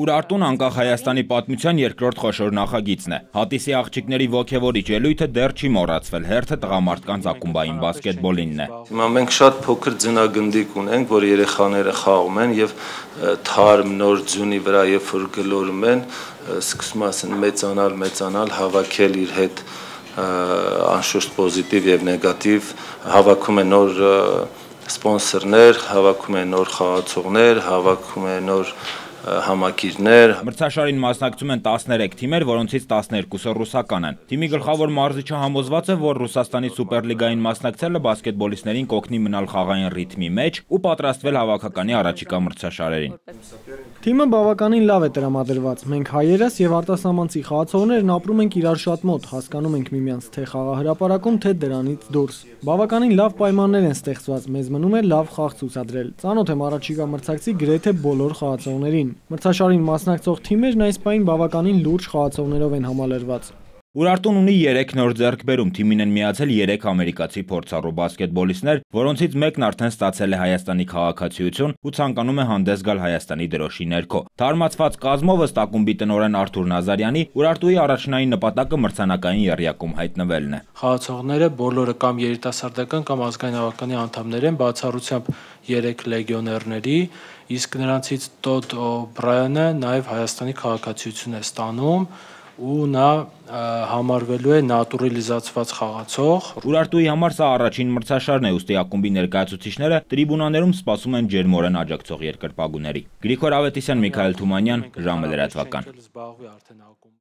Ուրարտուն անկախ Հայաստանի պատմության երկրորդ խոշոր նախագիծն է։ Հատիսի աղջիկների ոգևորիչ ելույթը դեռ չի մոռացվել, հերթը տղամարդկանց ակումբային բասկետբոլինն է։ Հիմա մենք շատ փոքր ձնագնդիկ ունենք, որ երեխաները խաղում են եւ թարմ նոր ձյունի վրա երբ որ գլորում են, սկսում ասեն մեծանալ, հավաքել իր հետ անշուշտ պոզիտիվ եւ նեգատիվ, հավաքում են նոր սպոնսորներ, հավաքում են նոր խաղացողներ, հավաքում են նոր համակիրներ։ Մրցաշարին մասնակցում են 13 թիմեր, որոնցից 12-ը ռուսական են։ Թիմի գլխավոր մարզիչը համոզված է, որ Ռուսաստանի Սուպերլիգային մասնակցելը բասկետբոլիստներին կօգնի մնալ խաղային ռիթմի մեջ ու պատրաստվել հավաքականի առաջիկա մրցաշարերին։ Թիմը բավականին լավ է տրամադրված։ Մենք հայերս եւ արտասահմանցի խաղացողներն ապրում ենք իրար շատ մոտ, հասկանում ենք միմյանց թե խաղահրապարակում, թե դրանից դուրս։ Բավականին լավ պայմաններ են ստեղծված, մեզ մնում է լավ խաղ ցուցադրել։ Ծանոթ եմ առաջիկա մրցակցի գրեթե բոլոր խաղացողներին։ Մրցաշարին մասնակցող թիմերն այս պահին բավականին լուրջ խաղացողներով են համալրված։ Ուրարտուն ունի 3 նոր ձեռքբերում, թիմին են միացել 3 ամերիկացի փորձառու բասկետբոլիստներ, որոնցից մեկն արդեն ստացել է Հայաստանի քաղաքացիություն ու ցանկանում է հանդես գալ Հայաստանի դրոշի ներքո։ Թարմացված կազմով ըստ ակումբի տնօրեն Արթուր Նազարյանի, Ուրարտուի առաջնային նպատակը մրցանակային եռյակում հայտնվելն է։ Խաղացողները բոլորը կամ երիտասարդական կամ ազգային հավաքականի անդամներ են, բացառությամբ 3 լեգիոներների, իսկ նրանցից Տոդ Օ'Բրայանը նաև Հայաստանի քաղաքացիություն է ստանում ու նա համարվելու է նատուրալիզացված խաղացող։ Ուրարտուի համար սա առաջին մրցաշարն է, ուստի ակումբի ներկայացուցիչները տրիբունաներում սպասում են ջերմորեն աջակցող երկրպագուների։ Գրիգոր Ավետիսյան, Միքայել Թումանյան, ժամը լրատվական։